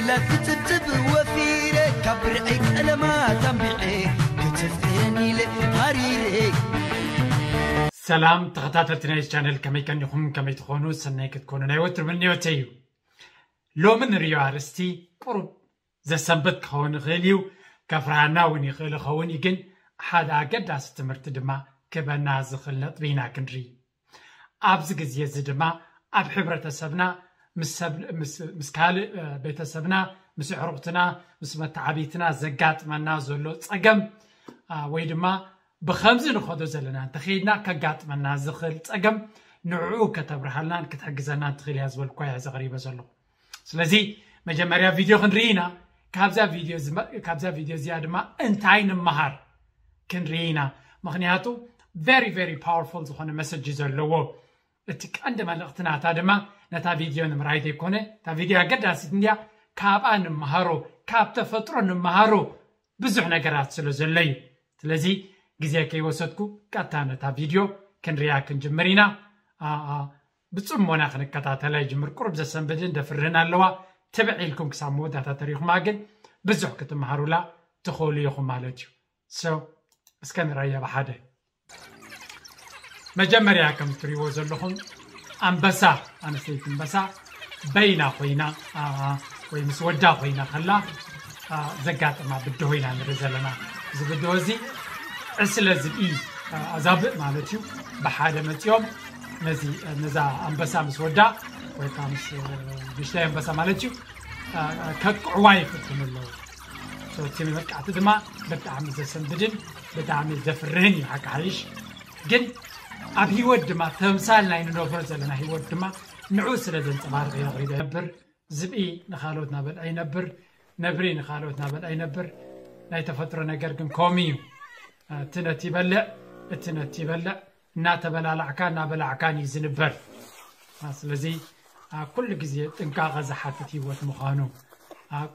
ላትፅብፅብ ወፊረ ካብ ብርዐይ ቀለማት ኣንቢዐ ክትፍቅረኒ ኢለ ሃሪረ ሰላም ተኸታተልቲ ናይዚ ቻነል፣ ከመይ ቀኒኹም? ከመይ ትኾኑ? ሰናይ ክትኮኑ ናይ ወትሩ ምንዮተይ እዩ። ሎሚ ንሪኦ ኣርእስቲ ቁሩብ ዘሰንብት ክኸውን ይኽእል እዩ፣ ከፍርሃና እውን ይኽእል ይኸውን እዩ፣ ግን ሓደ ኣገዳሲ ትምህርቲ ድማ ክበና ዝኽእል ነጥቢ ኢና ክንርኢ። ኣብዚ ግዜ እዚ ድማ ኣብ ሕብረተሰብና ምስ ሰብ ምስ ምስ ካልእ ቤተሰብና፣ ምስ ኣዕሩኽትና፣ ምስ መተዓብይትና ዘጋጥመና ዘሎ ጸገም ወይ ድማ ብኸምዚ ንኸዶ ዘለና እንተኸይድና ከጋጥመና ዝኽእል ጸገም ንዕኡ ከተብርሃልናን ክትሕግዘናን ትኽእል እያ ዝበልኳ እያ ዘቕሪበ ዘለኹ። ስለዚ መጀመርያ ቪድዮ ክንርኢ ኢና። ካብዛ ቪድዮ እዚኣ ድማ እንታይ ንምሃር ክንርኢ ኢና። ምኽንያቱ very very powerful ዝኾነ message እዩ ዘለዎ። እቲ ቀንዲ መልእኽቲ ናታ ድማ ነታ ቪድዮ ንምርኣይ ዘይኮነ፣ እታ ቪድዮ ኣገዳሲት እንድያ፣ ካብኣ ንምሃሮ፣ ካብ ተፈጥሮ ንምሃሮ ብዙሕ ነገራት ስለ ዘሎ እዩ። ስለዚ ግዜ ከይወሰድኩ ቀጥታ ነታ ቪድዮ ክንሪኣ ክንጅምር ኢና። ብፅሞና ክንከታተላ ይጅምር። ቁሩብ ዘሰንብድን ደፍርህን ኣለዋ። ትብዕ ኢልኩም ክሳብ መወዳእታ ተሪኹማ ግን ብዙሕ ክትመሃሩላ ትኽእሉ ኢኹም ማለት እዩ። So እስከ ንረያ ብሓደ። መጀመርያ ከም ትሪእዎ ዘለኹም ኣንበሳ፣ ኣንስተይቲ ኣንበሳ በይና ኮይና ወይ ምስ ወዳ ኮይና ከላ ዘጋጥማ ብድሆ ኢና ንርኢ ዘለና። እዚ ብድሆ እዚ ዕስለ ዝብኢ ኣዛብእ ማለት እዩ። ብሓደ መፂኦም ነዚ ነዛ ኣንበሳ ምስ ወዳ ወይ ከዓ ምስ ንሽታይ ኣንበሳ ማለት እዩ ከጥቅዕዋ ይፍትኑ ኣለዉ። እቲ መጥቃዕቲ ድማ ብጣዕሚ ዘሰንብድን ብጣዕሚ ዘፍርህን እዩ ሓቂ ሓይሽ። ግን ኣብ ህይወት ድማ ተምሳል ናይ ንነብሮ ዘለና ህይወት ድማ ንዑ ስለ ዘንፀባርቕ እዩ ኣቕሪበ ነብር። ዝብኢ ንኻልኦት ናበልዐ ይነብር፣ ነብሪ ንኻልኦት ናበልዐ ይነብር። ናይ ተፈጥሮ ነገር ግን ከምኡ እዩ። እቲ ነቲ ይበልዕ፣ እቲ ነቲ ይበልዕ፣ እናተበላላዕካ እናበላዕካን እዩ ዝንበር። ስለዚ ኩሉ ግዜ ጥንቃቐ ዝሓትት ህይወት ምዃኑ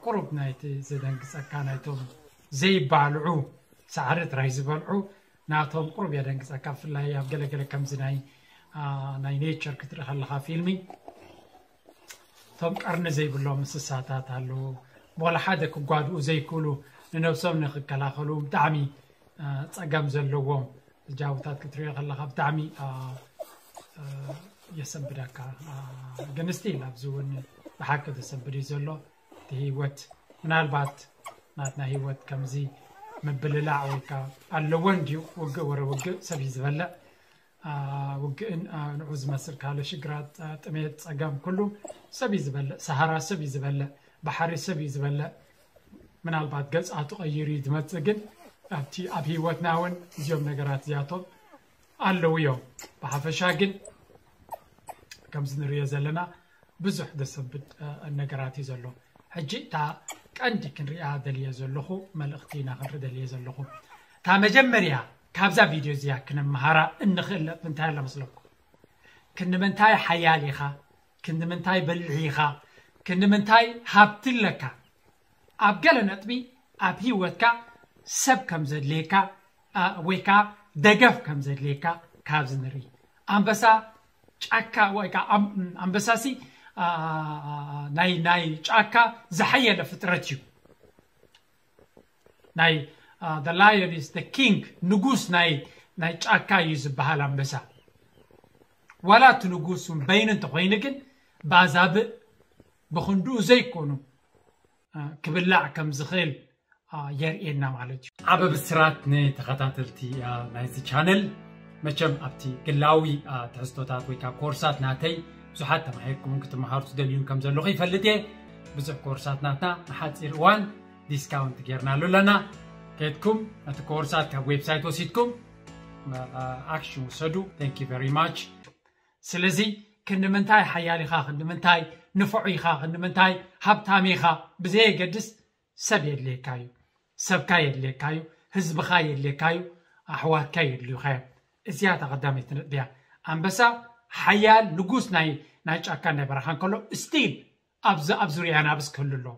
ቁሩብ ናይቲ ዘደንግፀካ ናይቶም ዘይባልዑ ሳዕሪ ጥራይ ዝበልዑ ናቶም ቁሩብ የደንግፀካ። ብፍላይ ኣብ ገለገለ ከምዚ ናይ ናይ ኔቸር ክትርኢ ከለካ ፊልሚ እቶም ቀርኒ ዘይብሎም እንስሳታት ኣለዉ። ወላ ሓደ ክጓድኡ ዘይክእሉ ንነብሶም ንክከላኸሉ ብጣዕሚ ፀገም ዘለዎም ጃውታት ክትሪኦ ከለካ ብጣዕሚ የሰንብደካ። ግን ስቲል ኣብዚ እውን ብሓቂ ዘሰንብድ እዩ ዘሎ እቲ ህይወት። ምናልባት ናትና ህይወት ከምዚ ምብልላዕ ወይ ከዓ ኣለዎ እንድዩ። ውግእ ወረ ውግእ ሰብ እዩ ዝበልዕ። ውግእን ንዑ ዝመስል ካልእ ሽግራት፣ ጥሜት፣ ፀገም ኩሉ ሰብ እዩ ዝበልዕ። ሰሃራ ሰብ እዩ ዝበልዕ። ባሕሪ ሰብ እዩ ዝበልዕ። ምናልባት ገፃቱ ቀይሩ እዩ ዝመፅእ፣ ግን ኣብቲ ኣብ ህይወትና እውን እዚኦም ነገራት እዚኣቶም ኣለዉ እዮም። ብሓፈሻ ግን ከምዚ ንሪኦ ዘለና ብዙሕ ዘሰንብድ ነገራት እዩ ዘሎ። ሕጂ እታ ቀንዲ ክንሪኣ ደልየ ዘለኹ መልእኽቲ ኢና ክንርኢ ደልየ ዘለኹ። እታ መጀመርያ ካብዛ ቪድዮ እዚኣ ክንመሃራ እንኽእል ነጥቢ እንታይ ኣሎ መስለኩም? ክንዲ ምንታይ ሓያል ኢኻ፣ ክንዲ ምንታይ በሊሕ ኢኻ፣ ክንዲ ምንታይ ሃብቲ ኣለካ። ኣብ ገለ ነጥቢ ኣብ ህይወትካ ሰብ ከም ዘድልየካ ወይ ከዓ ደገፍ ከም ዘድልየካ ካብዚ ንርኢ። ኣንበሳ ጫካ ወይ ከዓ ኣንበሳሲ ናይ ናይ ጫካ ዝሓየለ ፍጥረት እዩ። ናይ the lion is the king፣ ንጉስ ናይ ናይ ጫካ እዩ ዝበሃል ኣንበሳ። ዋላ እቲ ንጉስ እውን በይኑ እንተኮይኑ ግን ብኣዛብእ ብክንድኡ ዘይኮኑ ክብላዕ ከም ዝኽእል የርእየና ማለት እዩ። ዓበ ብስራት ንተኸታተልቲ ናይዚ ቻነል። መቸም ኣብቲ ግላዊ ትሕዝቶታት ወይ ከዓ ኮርሳት ናተይ ብዙሓት ተማሂርኩምን ክትመሃሩ ትደልዩን ከም ዘለኹ ይፈልጥ እየ። ብዙሕ ኮርሳት ናትና ንሓፂር እዋን ዲስካውንት ጌርናሉ ኣለና። ከድኩም ነቲ ኮርሳት ካብ ዌብሳይት ወሲድኩም ኣክሽን ውሰዱ። Thank you very much። ስለዚ ክንዲ ምንታይ ሓያል ኢኻ፣ ክንዲ ምንታይ ንፉዕ ኢኻ፣ ክንዲ ምንታይ ሃብታም ኢኻ ብዘየገድስ ሰብ የድልየካ እዩ። ሰብካ የድልየካ እዩ። ህዝብኻ የድልየካ እዩ። ኣሕዋትካ የድልዩኻ እዮም። እዚኣ እታ ቀዳመይቲ ነጥቢ እያ። ኣንበሳ ሓያል ንጉስ ናይ ናይ ጫካን ናይ በረኻን ከሎ ስቲል ኣብዚ ኣብ ዙርያ ኣናብስ ክህሉ ኣለዎ።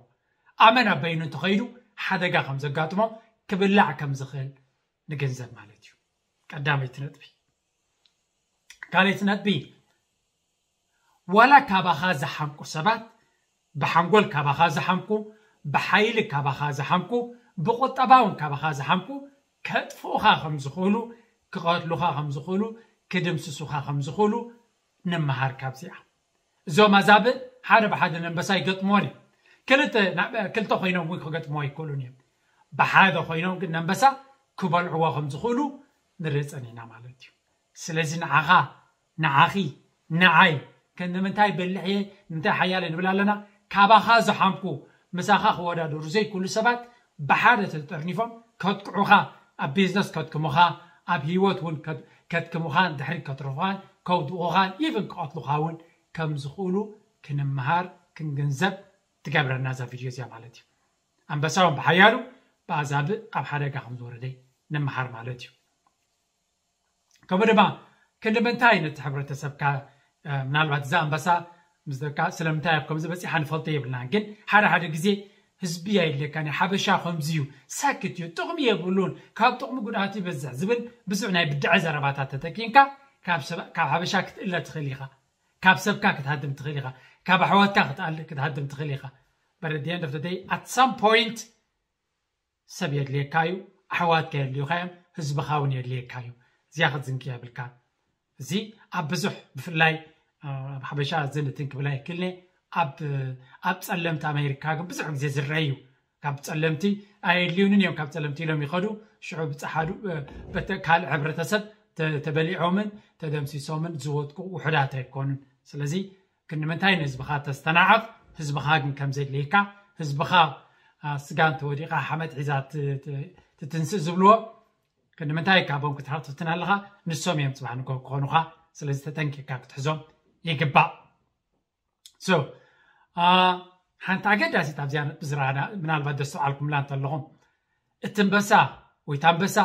ኣመና በይኑ እንተኸይዱ ሓደጋ ከም ዘጋጥሞ ክብላዕ ከም ዝኽእል ንግንዘብ ማለት እዩ። ቀዳመይቲ ነጥቢ። ካልኣይቲ ነጥቢ ዋላ ካባኻ ዝሓምቁ ሰባት ብሓንጎል ካባኻ ዝሓምኩ፣ ብሓይሊ ካባኻ ዝሓምኩ፣ ብቁጠባ እውን ካባኻ ዝሓምኩ ከጥፍኡኻ ከም ዝኽእሉ፣ ክቐትሉኻ ከም ዝኽእሉ፣ ክድምስሱኻ ከም ዝኽእሉ ንምሃር ካብዚኣ። እዞም ኣዛብእ ሓደ ብሓደ ነንበሳ ይገጥምዎን እዮም። ክልተ ናብ- ክልተ ኮይኖም እውን ክገጥምዎ ኣይክእሉን እዮም። ብሓደ ኮይኖም ግን ነንበሳ ክበልዕዎ ከም ዝኽእሉ ንርኢ ጸኒሕና ማለት እዩ። ስለዚ ንዓኻ፣ ንዓኺ፣ ንዓይ ከ ንምንታይ በሊሕ እየ፣ ንምንታይ ሓያል እየ ንብል ኣለና? ካባኻ ዝሓምኩ፣ ምሳኻ ክወዳደሩ ዘይክእሉ ሰባት ብሓደ ተጠርኒፎም ከጥቅዑኻ፣ ኣብ ቢዝነስ ከድክሙኻ፣ ኣብ ህይወት እውን ከድ- ከድክሙኻን ድሕሪት ከትርፉኻን ከውድቑኻን ኢቭን ክቐትሉኻ እውን ከም ዝኽእሉ ክንምሃር ክንግንዘብ ትገብረና እዛ ቪድዮ እዚኣ ማለት እዩ። ኣንበሳ እውን ብሓያሉ ብኣዛብእ ኣብ ሓደጋ ከም ዝወረደ ንምሃር ማለት እዩ። ከምኡ ድማ ክንዲ ምንታይ ነቲ ሕብረተሰብካ ምናልባት እዛ ኣንበሳ ምስ ደቃ ስለምንታይ ኣብ ከምዚ በፂሓ ንፈልጦ የብልናን፣ ግን ሓደ ሓደ ግዜ ህዝቢ ኣየድልየካን እዩ፣ ሓበሻ ከምዚ እዩ፣ ሳክት እዩ፣ ጥቕሚ የብሉን፣ ካብ ጥቕሚ ጉድኣት ይበዝሕ ዝብል ብዙሕ ናይ ብድዐ ዘረባታት ተጠቂምካ ካብ ሰብ- ካብ ሓበሻ ክትእለ ትኽእል ኢኻ፣ ካብ ሰብካ ክትሃድም ትኽእል ኢኻ፣ ካብ ኣሕዋትካ ክትኣል- ክትሃድም ትኽእል ኢኻ። But at the end of the day, at some point ሰብ የድልየካ እዩ፣ ኣሕዋትካ የድልዩካ እዮም፣ ህዝብኻ እውን የድልየካ እዩ። እዚኣ ክትዝንግዕ የብልካ። እዚ ኣብ ብዙሕ ብፍላይ ኣብ ሓበሻ ዝንትን ክብላ ይክልኒ ኣብ ኣብ ጸለምቲ ኣሜሪካ ግን ብዙሕ ግዜ ዝረአ እዩ። ካብ ጸለምቲ ኣየድልዩንን እዮም ካብ ጸለምቲ ኢሎም ይኸዱ። ሽዑ ብፀሓዱ ካልእ ሕብረተሰብ ተበሊዖምን ተደምሲሶምን ዝወጥቁ ውሑዳት ኣይኮኑን። ስለዚ ክንምንታይ ንህዝብኻ ተስተናዕቕ? ህዝብኻ ግን ከም ዘድልየካ፣ ህዝብኻ ስጋ እንተወዲቓ ሓመድ ሒዛ ትትንስእ ዝብልዎ ክንምንታይ ካብኦም ክትሓትትን ኣለኻ? ንሶም እዮም ፅባሕ ንጎ ክኾኑኻ። ስለዚ ተጠንቂቕካ ክትሕዞም ይግባእ። So ሓንቲ ኣገዳሲት ኣብዚኣ ብዝረኣና ምናልባት ደስተውዓልኩምላ እንተለኹም እቲ ኣንበሳ ወይ እቲ ኣንበሳ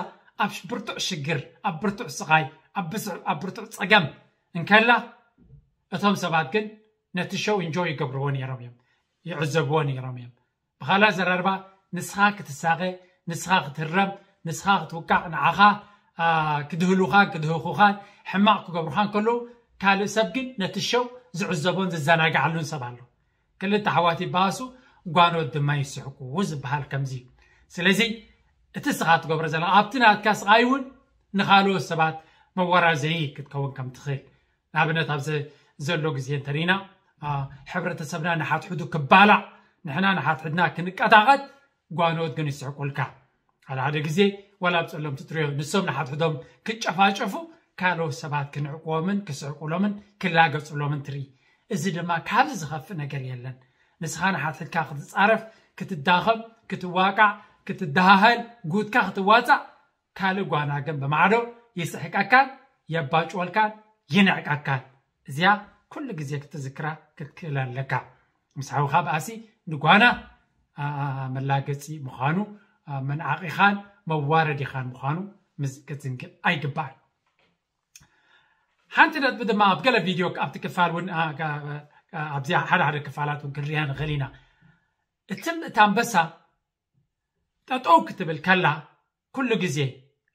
ኣብ ብርቱዕ ሽግር፣ ኣብ ብርቱዕ ስቓይ፣ ኣብ ብርቱዕ ፀገም እንከላ እቶም ሰባት ግን ነቲ ሸው ኢንጆይ ይገብርዎ ነይሮም እዮም፣ ይዕዘብዎ ነይሮም እዮም። ብኻልእ ኣዘራርባ ንስኻ ክትሳቐ፣ ንስኻ ክትህረም፣ ንስኻ ክትውቃዕ፣ ንዓኻ ክድህሉኻን ክድህኹኻን ሕማቕ ክገብሩኻን ከለዉ ካልእ ሰብ ግን ነቲ ሸው ዝዕዘቦን ዝዘናግዓሉን ሰብ ኣሎ። ክልተ ኣሕዋት ይበኣሱ፣ ጓኖት ድማ ይስሕቁ ዝበሃል ከምዚ እዩ። ስለዚ እቲ ንስኻ ትገብሮ ዘለኻ ኣብቲ ናትካ ስቓይ እውን ንኻልኦት ሰባት መወራዘዪ ክትከውን ከም ትኽእል ንኣብነት ኣብዚ ዘሎ ግዜ እንተሪና ሕብረተሰብና ንሓትሕዱ ክባላዕ ንሕና ንሓትሕድና ክንቀጣቐጥ ጓኖት ግን ይስሕቁልካ። ሓደ ሓደ ግዜ ዋላ ኣብ ጸለምቲ ትሪኦ ንሶም ንሓትሕዶም ክጨፋጨፉ ካልኦት ሰባት ክንዕቅዎምን ክስሕቁሎምን ክላገጹሎምን ትርኢ። እዚ ድማ ካብዚ ዝኸፍእ ነገር የለን። ንስኻ ንሓትሕድካ ክትጻረፍ፣ ክትዳኸም፣ ክትዋቃዕ፣ ክትደሃህል፣ ጉድካ ክትዋጻእ ካልእ ጓና ግን ብማዕዶ ይስሕቀካን የባጭወልካን ይንዕቀካን። እዚኣ ኩሉ ግዜ ክትዝክራ ክትክእል ኣለካ። ምስ ሓውኻ በኣሲ ንጓና መላገፂ ምዃኑ መንዓቒኻን መዋረዲኻን ምዃኑ ክትዝንግዕ ኣይግባእን። ሓንቲ ነጥቢ ድማ ኣብ ገለ ቪድዮ ኣብቲ ክፋል እውን ኣብዚ ሓደ ሓደ ክፋላት እውን ክንሪኣ ንኽእል ኢና። እቲ እታ ኣንበሳ ጠጠው ክትብል ከላ ኩሉ ግዜ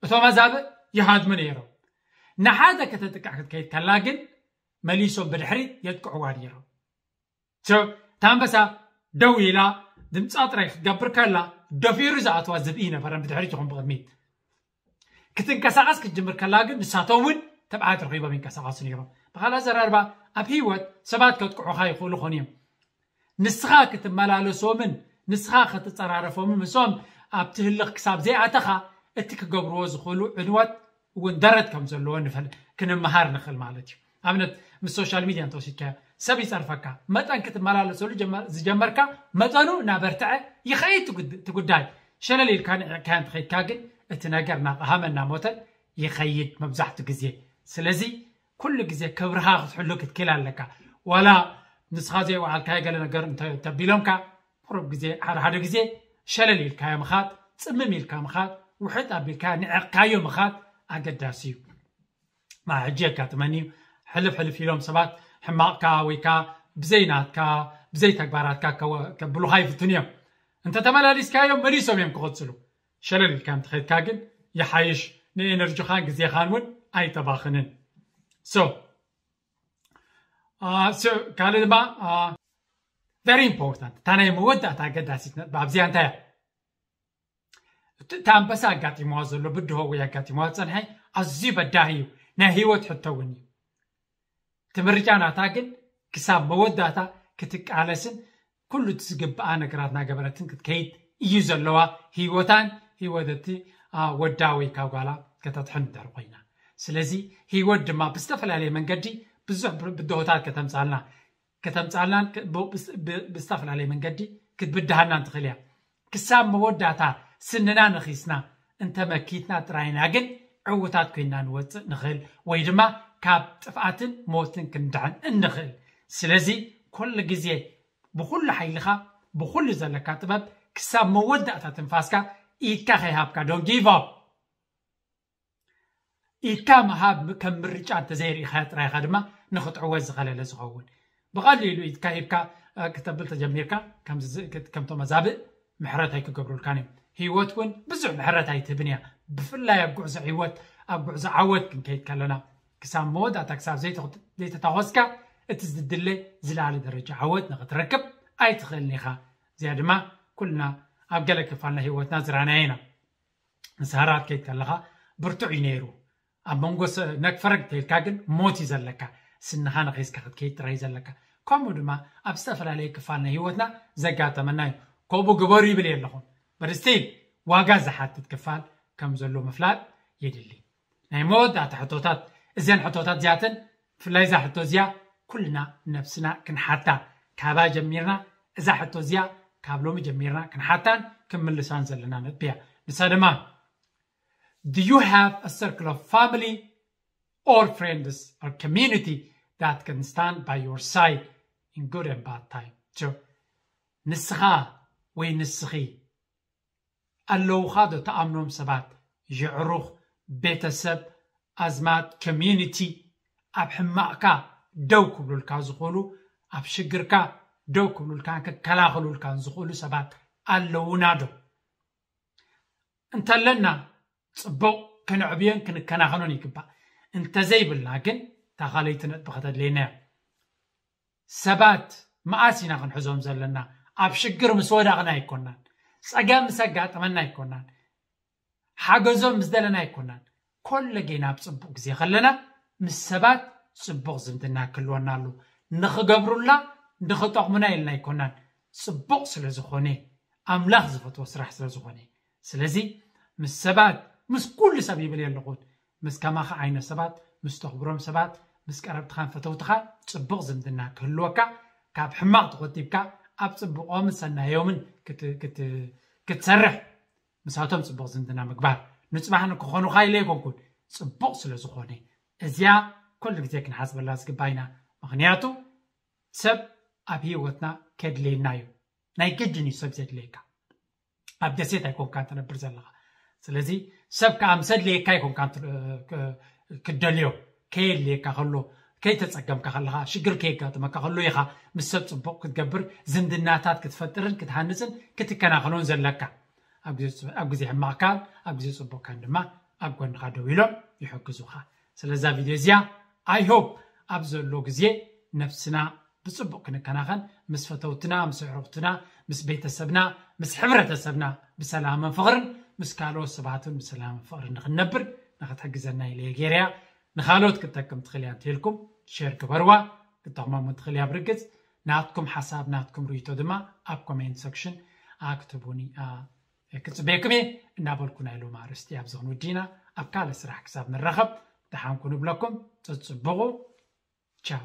እቶም ኣዛብእ ይሃድሙ ነይሮም። ንሓደ ከተጥቅዕ ክትከይድ ከላ ግን መሊሶም ብድሕሪት የጥቅዕዋ ነይሮም። እታ ኣንበሳ ደው ኢላ ድምፃ ጥራይ ክትገብር ከላ ደፊሩ ዝኣትዋ ዝብኢ ነበረን ብድሕሪት ይኹን ብቕድሚት። ክትንቀሳቐስ ክትጅምር ከላ ግን ንሳቶም እውን ተብዓት ረኺቦም ይንቀሳቐሱ ነይሮም። ብኻልእ ኣዘራርባ ኣብ ህይወት ሰባት ከጥቅዑኻ ይኽእሉ ኾኑ እዮም። ንስኻ ክትመላለሶምን ንስኻ ክትፀራረፎምን ምስኦም ኣብቲ ህልኽ ክሳብ ዘይኣተኻ እቲ ክገብርዎ ዝኽእሉ ዕንወት እውን ደረት ከም ዘለዎ ንፈል ክንመሃር ንኽእል ማለት እዩ። ኣብነት ምስ ሶሻል ሚድያ እንተወሲድካዮ ሰብ ይፀርፈካ መጠን ክትመላለሰሉ ዝጀመርካ መጠኑ እናበርትዐ ይኸይድ እቲ ጉዳይ። ሸለል ኢልካ ንዕቕካዮ እንተኸይድካ ግን እቲ ነገር እናቐሃመ እናሞተ ይኸይድ መብዛሕቱ ግዜ። ስለዚ ኩሉ ግዜ ክብርኻ ክትሕሉ ክትክእል ኣለካ። ዋላ ንስኻ ዘይወዓልካዮ ገለ ነገር እንተቢሎምካ ቁሩብ ግዜ ሓደ ሓደ ግዜ ሸለል ኢልካዮ ምኻድ፣ ፅምም ኢልካ ምኻድ፣ ውሕጥ ኣቢልካ ንዕቕካዮ ምኻድ ኣገዳሲ እዩ። ሕጂ የጋጥመኒ እዩ። ሕልፍ ሕልፍ ኢሎም ሰባት ሕማቕካ ወይ ከዓ ብዘይ ናትካ ብዘይ ተግባራትካ ከብሉኻ ይፍትኑ እዮም። እንተተመላሊስካዮም መሊሶም እዮም ክቕፅሉ። ሸለል ኢልካ እንተኸድካ ግን ይሓይሽ፣ ንኤነርጂኻን ግዜኻን እውን ኣይተባኽንን። So ካልእ ድማ very important። እታ ናይ መወዳእታ ኣገዳሲት ነጥቢ ኣብዚኣ እንታይ እያ? እቲ ኣንበሳ ኣጋጢምዋ ዘሎ ብድሆ ወይ ኣጋጢምዋ ዝፀንሐ ኣዝዩ በዳሂ እዩ። ናይ ህይወት ሕቶ እውን እዩ። እቲ ምርጫ ናታ ግን ክሳብ መወዳእታ ክትቃለስን ኩሉ እቲ ዝግብኣ ነገራት እናገበረትን ክትከይድ እዩ ዘለዋ። ህይወታን ህይወት እቲ ወዳ ወይ ካብ ጓላ ከተጥሕን እንድሕር ኮይና፣ ስለዚ ህይወት ድማ ብዝተፈላለየ መንገዲ ብዙሕ ብድሆታት ከተምፃልና ከተምፃልናን ብዝተፈላለየ መንገዲ ክትብድሃናን ትኽእል እያ። ክሳብ መወዳእታ ስንና ነኺስና እንተመኪትና ጥራይና ግን ዕውታት ኮይና ንወፅእ ንኽእል ወይ ድማ ካብ ጥፍኣትን ሞትን ክንድሕን እንኽእል። ስለዚ ኩሉ ግዜ ብኩሉ ሓይልኻ ብኩሉ ዘለካ ጥበብ ክሳብ መወዳእታ ትንፋስካ ኢድካ ከይሃብካ don't give up። ኢድካ ምሃብ ከም ምርጫ እንተዘይርኢኻዮ ጥራይኻ ድማ ንኽትዕወት ዝኸለለ ዝኸውን። ብቐሊሉ ኢድካ ሂብካ ክተብል ተጀሚርካ ከምቶም ኣዛብእ ምሕረት ኣይክገብሩልካን እዮም። ህይወት እውን ብዙሕ ምሕረት ኣይትህብን እያ። ብፍላይ ኣብ ጉዕዞ ህይወት ኣብ ጉዕዞ ዓወት ክንከይድ ከለና ክሳብ መወዳእታ ክሳብ ዘይተታኾስካ እቲ ዝድለ ዝለዓለ ደረጃ ዓወት ንኽትረክብ ኣይትኽእልን ኢኻ። እዚኣ ድማ ኩልና ኣብ ገለ ክፋልና ህይወትና ዝራናየ ኢና። ንስሃራት ከይድ ከለኻ ብርቱዕ እዩ ነይሩ። ኣብ መንጎ ነግፈረግ ተይልካ ግን ሞት እዩ ዘለካ። ስንኻ ንኺስካ ክትከይድ ጥራይ ዘለካ። ከምኡ ድማ ኣብ ዝተፈላለየ ክፋል ናይ ህይወትና ዘጋጠመና እዩ። ከምኡ ግበሩ ይብል የለኹም። በርስቲል ዋጋ ዝሓትት ክፋል ከም ዘሎ ምፍላጥ የድሊ። ናይ መወዳእታ ሕቶታት እዘን ሕቶታት እዚኣተን ብፍላይ እዛ ሕቶ እዚኣ ኩልና ነብስና ክንሓታ ካባ ጀሚርና እዛ ሕቶ እዚኣ ካብ ሎሚ ጀሚርና ክንሓታን ክንምልሳን ዘለና ነጥቢ እያ። ንሳ ድማ do you have a circle of family or friends or community that can stand by your side in good and bad time? ንስኻ ወይ ንስኺ ኣለውኻ ዶ ተኣምኖም ሰባት፣ የዕሩኽ፣ ቤተሰብ፣ ኣዝማድ፣ community ኣብ ሕማቕካ ደው ክብሉልካ ዝኽእሉ ኣብ ሽግርካ ደው ክብሉልካን ክከላኸሉልካን ዝኽእሉ ሰባት ኣለውና ዶ? እንተለና ፅቡቕ ክነዕብዮን ክንከናኸኖን ይግባእ። እንተዘይብልና ግን እታ ካልኣይቲ ነጥቢ ከተድልየና እያ። ሰባት መኣስ ኢና ክንሕዞም ዘለና? ኣብ ሽግር ምስ ወዳቕና ኣይኮናን፣ ፀገም ምስ ኣጋጠመና ኣይኮናን፣ ሓገዞም ምስ ደለና ኣይኮናን። ኮለጌና ኣብ ፅቡቕ ግዜ ከለና ምስ ሰባት ፅቡቕ ዝምድና ክህልወና ኣሉ። ንኽገብሩልና ንኽጠቕሙና ኢልና ኣይኮናን፣ ፅቡቕ ስለ ዝኾነ ኣምላኽ ዝፈትዎ ስራሕ ስለ ዝኾነ። ስለዚ ምስ ሰባት ምስ ኩሉ ሰብ ይብል የለኹን፣ ምስ ከማኻ ዓይነት ሰባት ምስ ተኽብሮም ሰባት ምስ ቀረብትኻን ፈተውትኻ ፅቡቕ ዝምድና ክህልወካ ካብ ሕማቕ ተቆጢብካ ኣብ ፅቡቖምን ሰናዮምን ክትሰርሕ ምሳቶም ፅቡቕ ዝምድና ምግባር ንፅባሕ ንክኾኑኻ ኢለ ኣይኮንኩን፣ ፅቡቕ ስለ ዝኾነ እዚኣ ኩሉ ግዜ ክንሓስበላ ዝግባይና። ምክንያቱ ሰብ ኣብ ህይወትና ከድልየና እዩ። ናይ ግድን እዩ ሰብ ዘድልየካ። ኣብ ደሴት ኣይኮንካ ትነብር ዘለኻ። ስለዚ ሰብ ከዓ ምስ ኣድልየካ ኣይኮንካ ክትደልዮ። ከየድልየካ ከሎ፣ ከይተፀገምካ ከለኻ፣ ሽግር ከየጋጥመካ ከሎ ኢኻ ምስ ሰብ ፅቡቕ ክትገብር፣ ዝምድናታት ክትፈጥርን ክትሃንፅን ክትከናኸኖን ዘለካ። ኣብ ግዜ ሕማቕካን ኣብ ግዜ ፅቡቕካን ድማ ኣብ ጎንኻ ደው ኢሎም ይሕግዙኻ። ስለዛ ቪድዮ እዚኣ I hope ኣብ ዘሎ ግዜ ነብስና ብፅቡቕ ክንከናኸን፣ ምስ ፈተውትና፣ ምስ ኣዕሩኽትና፣ ምስ ቤተሰብና፣ ምስ ሕብረተሰብና ብሰላምን ፍቕርን ምስ ካልኦት ሰባትን ብሰላምን ፍቕርን ንክንነብር ንክትሕግዘና ኢለ እየ ገይረያ። ንካልኦት ክትጠቅም ትኽእል እያ እንተኢልኩም ሼር ግበርዋ። ክትጠቕሞም እውን ትኽእል እያ። ብርግፅ ናትኩም ሓሳብ ናትኩም ርእይቶ ድማ ኣብ ኮሜንት ሰክሽን ክትህቡኒ ክፅበየኩም እየ እናበልኩ ናይ ሎሚ ኣርእስቲ ኣብዚ ክንውድእ ኢና። ኣብ ካልእ ስራሕ ክሳብ ንራኸብ ደሓን ኩኑ እብለኩም። ፅፅብቑ ቻው።